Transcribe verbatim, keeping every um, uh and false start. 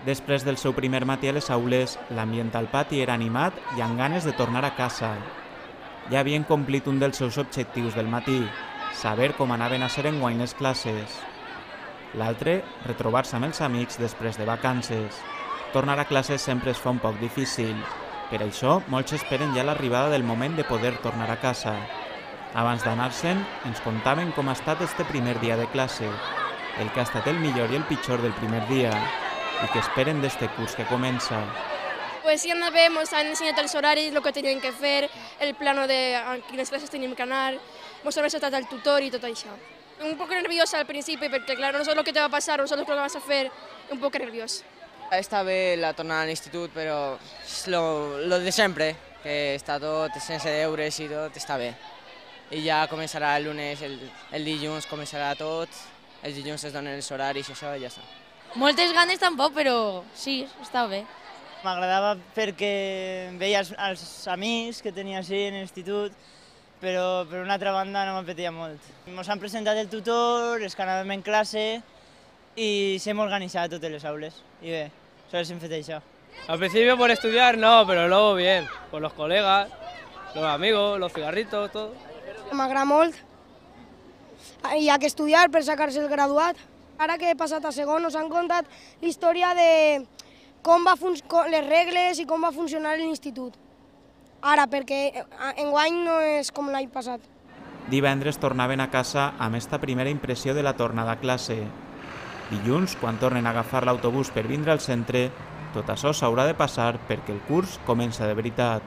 Després del seu primer matí a les aules, l'ambient al pati era animat i amb ganes de tornar a casa. Ja havien complit un dels seus objectius del matí, saber com anaven a ser enguany les classes. L'altre, retrobar-se amb els amics després de vacances. Tornar a classes sempre es fa un poc difícil. Per això, molts esperen ja l'arribada del moment de poder tornar a casa. Abans d'anar-se'n, ens contaven com ha estat este primer dia de classe, el que ha estat el millor i el pitjor del primer dia, i que esperen d'este curs que comença. Pues sí, anava bé, ens han ensenyat els horaris, el que tenien que fer, el plano de a quines classes teníem que anar, ens han ensenyat el tutor i tot això. Un poc nerviosa al principi, perquè clar, no saps el que te va passar, no saps el que vas a fer, un poc nerviós. Està bé la tornada a l'institut, però és lo, lo de sempre, que està tot sense deures i tot, està bé. I ja començarà el lunes, el, el dilluns començarà tot, els dilluns es donen els horaris i això, i ja està. Moltes ganes tampoc, però sí, està bé. M'agradava perquè veia els, els amics que tenia així en l'institut, però per una altra banda no m'apetia molt. Ens han presentat el tutor, els que anàvem en classe i s'hem organitzat totes les aules. I bé, sols hem fet això. Al principio por estudiar no, pero luego bien, por los colegas, los amigos, los cigarritos, todo. M'agrada molt. Hi ha que estudiar per sacar-se el graduat. Ara que he passat a segon, ens han contat la història de com va les regles i com va funcionar l'institut. Ara, perquè enguany no és com l'any passat. Divendres tornaven a casa amb esta primera impressió de la tornada a classe. Dilluns, quan tornen a agafar l'autobús per vindre al centre, tot això s'haurà de passar perquè el curs comença de veritat.